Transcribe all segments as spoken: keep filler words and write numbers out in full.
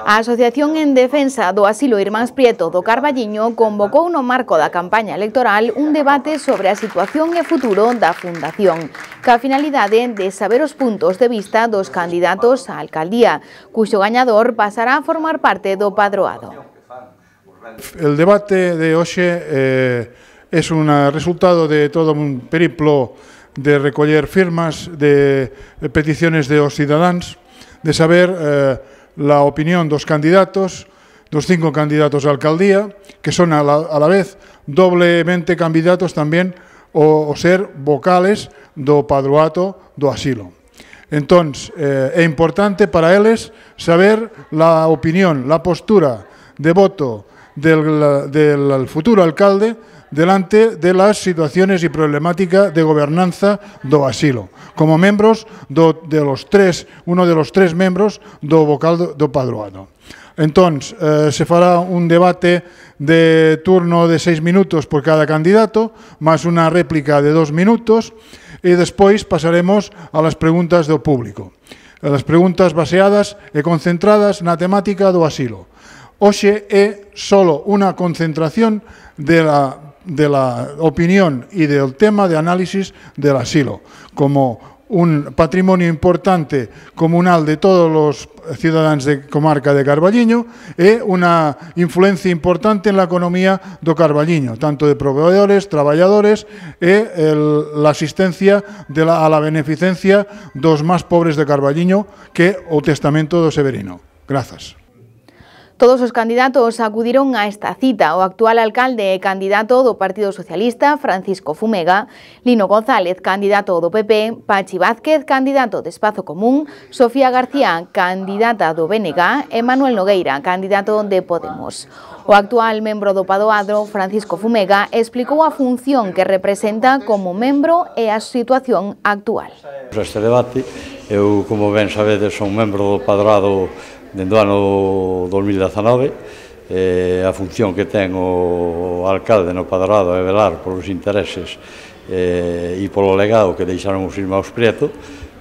A Asociación en Defensa do Asilo Irmáns Prieto do Carballiño convocou no marco da campaña electoral un debate sobre a situación e futuro da Fundación, ca finalidade de saber os puntos de vista dos candidatos á alcaldía, cuxo gañador pasará a formar parte do padroado. El debate de hoxe eh, es un resultado de todo un periplo de recoller firmas, de, de peticiones de os cidadáns, de saber eh, la opinión dos candidatos, dos cinco candidatos a alcaldía, que son a la, a la vez doblemente candidatos tamén o, o ser vocales do padroato do asilo. Entón, eh, é importante para eles saber la opinión, la postura de voto del, del futuro alcalde delante de las situaciones y problemática de gobernanza do asilo, como membros do, de los tres, uno de los tres membros do vocal do, do padroado. Entón, eh, se fará un debate de turno de seis minutos por cada candidato, máis unha réplica de dos minutos, e despois pasaremos a las preguntas do público. As preguntas baseadas e concentradas na temática do asilo. Hoxe é solo unha concentración de la de la opinión y del tema de análisis del asilo, como un patrimonio importante comunal de todos los ciudadanos de comarca de Carballiño e unha influencia importante en la economía do Carballiño, tanto de proveedores, traballadores e el, la asistencia de la, a la beneficencia dos máis pobres de Carballiño, que o testamento do Severino. Grazas. Todos os candidatos acudiron a esta cita. O actual alcalde e candidato do Partido Socialista, Francisco Fumega, Lino González, candidato do P P, Pachi Vázquez, candidato de Espazo Común, Sofía García, candidata do B N G e Manuel Nogueira, candidato de Podemos. O actual membro do padroado, Francisco Fumega, explicou a función que representa como membro e a situación actual. Este debate, eu, como ben sabedes, son membro do padroado dende o ano dos mil dezanove, eh, a función que ten o alcalde no padroado é velar polos intereses eh, e polo legado que deixaron os irmáns Prieto.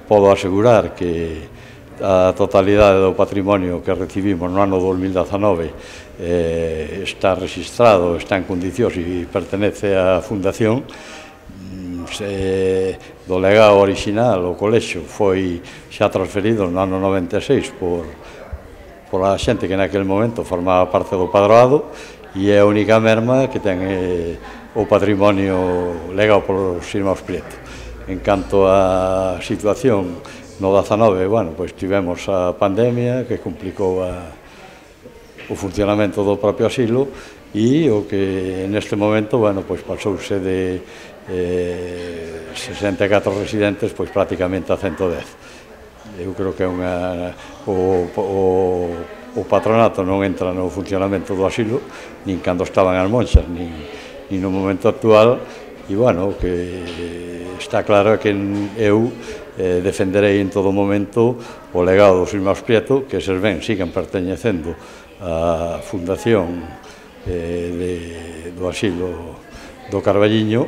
Podo asegurar que a totalidade do patrimonio que recibimos no ano dos mil dezanove eh, está registrado, está en condicións e pertenece á Fundación. Se, do legado orixinal, o colexio foi xa transferido no ano noventa e seis por pola xente que naquele momento formaba parte do padroado, e é a única merma que ten eh, o patrimonio legado polos irmáns Prieto. En canto á situación no dezanove, bueno, pois tivemos a pandemia que complicou a, o funcionamento do propio asilo, e o que neste momento, bueno, pois pasouse de eh, sesenta e catro residentes, pois prácticamente a ciento dez. Eu creo que é unha, o, o, o patronato non entra no funcionamento do asilo, nin cando estaban as monxas, nin, nin no momento actual, e, bueno, o que está claro é que eu eh, defenderei en todo momento o legado dos irmáns Prieto, que eses ben sigan perteñecendo á Fundación eh, de, do asilo do Carballiño,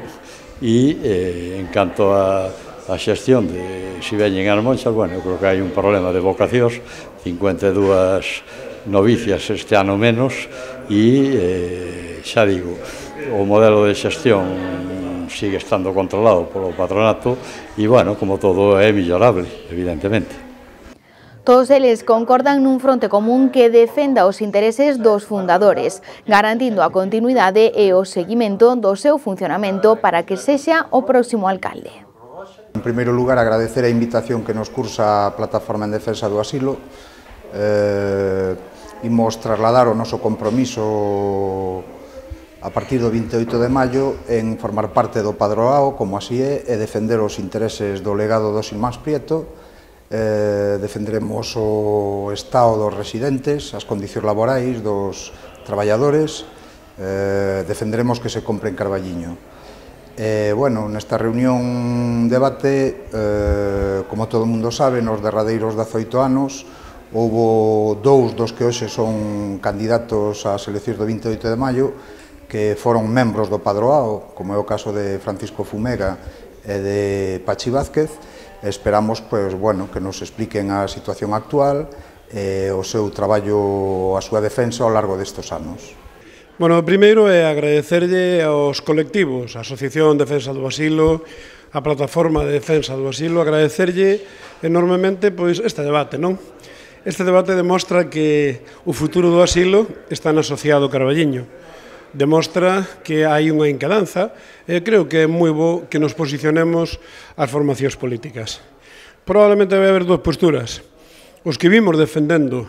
e eh, en canto a a xestión de se veñen as monxas, bueno, eu creo que hai un problema de vocacións, cincuenta e dúas novicias este ano menos, e eh, xa digo, o modelo de xestión sigue estando controlado polo patronato, e, bueno, como todo é millorable, evidentemente. Todos eles concordan nun fronte común que defenda os intereses dos fundadores, garantindo a continuidade e o seguimento do seu funcionamento para que sexa o próximo alcalde. En primeiro lugar, agradecer a invitación que nos cursa a Plataforma en Defensa do Asilo. Eh, imos trasladar o noso compromiso a partir do vinte e oito de maio en formar parte do padroado, como así é, e defender os intereses do legado dos irmáns Prieto. Eh, defenderemos o estado dos residentes, as condicións laborais dos traballadores, eh, defenderemos que se compre en Carballiño. Eh, bueno, nesta reunión debate, eh, como todo o mundo sabe, nos derradeiros dezoito anos, houbo dous dos que hoxe son candidatos ás eleccións do vinte e oito de maio, que foron membros do padroado, como é o caso de Francisco Fumega e de Pachi Vázquez. Esperamos, pues, bueno, que nos expliquen a situación actual, e o seu traballo, a súa defensa ao largo destes anos. Bueno, o primeiro é agradecerlle aos colectivos, a Asociación Defensa do Asilo, a Plataforma de Defensa do Asilo, agradecerlle enormemente pois este debate, non? Este debate demostra que o futuro do asilo está no asociado Carballiño. Demostra que hai unha encadanza e creo que é moi bo que nos posicionemos as formacións políticas. Probablemente vai haber dúas posturas. Os que vimos defendendo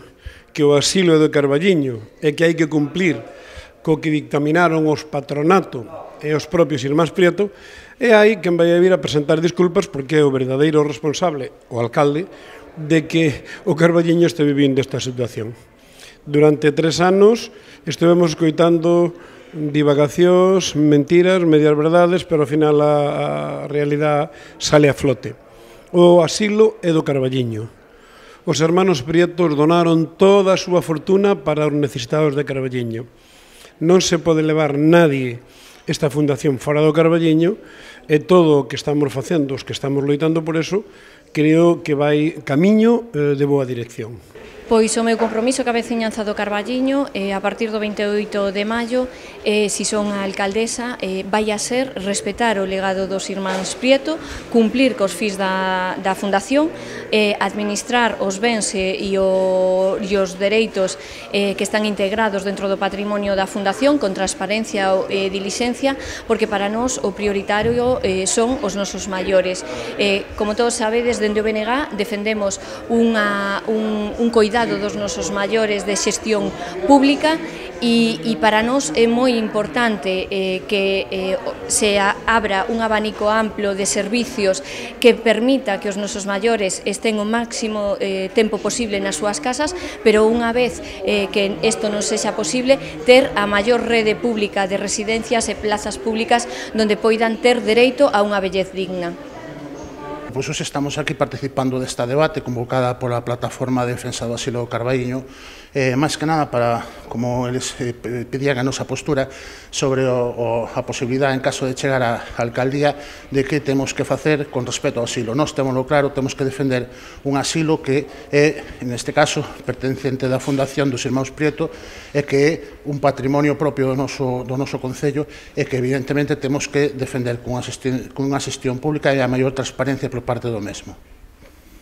que o asilo é do Carballiño e que hai que cumplir co que dictaminaron os patronato e os propios irmáns Prieto, e hai quen vai a vir a presentar disculpas porque é o verdadeiro responsable, o alcalde, de que o Carballiño este vivindo esta situación. Durante tres anos estivemos escoitando divagacións, mentiras, medias verdades, pero ao final a, a realidade sale a flote. O asilo é do Carballiño. Os hermanos Prietos donaron toda a súa fortuna para os necesitados de Carballiño. Non se pode levar nadie esta fundación fora do Carballiño e todo o que estamos facendo, os que estamos loitando por eso, creo que vai camiño de boa dirección. Pois o meu compromiso ca veciñanza do Carballiño, eh, a partir do vinte e oito de maio, eh, si son a alcaldesa, eh, vai a ser respetar o legado dos irmáns Prieto, cumplir cos fins da, da fundación, eh, administrar os bens e, e, o, e os dereitos eh, que están integrados dentro do patrimonio da fundación con transparencia e dilixencia, porque para nós o prioritario eh, son os nosos maiores. Eh, como todos sabedes, dende o B N G defendemos unha, un, un coidado dos nosos maiores de xestión pública e, e para nós é moi importante eh, que eh, se abra un abanico amplo de servicios que permita que os nosos maiores estén o máximo eh, tempo posible nas súas casas, pero unha vez eh, que isto non sexa posible, ter a maior rede pública de residencias e plazas públicas donde poidan ter dereito a unha vellez digna. Pois hoxe estamos aquí participando desta debate convocada pola Plataforma de Defensa do Asilo do Carballiño, eh, máis que nada para, como eles eh, pedían a nosa postura sobre o, o, a posibilidade, en caso de chegar á alcaldía, de que temos que facer con respecto ao asilo. Nós temoslo claro, temos que defender un asilo que é, neste caso, pertencente da Fundación dos Irmáns Prieto e que é un patrimonio propio do noso, do noso concello e que evidentemente temos que defender cunha xestión, cunha xestión pública e a maior transparencia por parte do mesmo.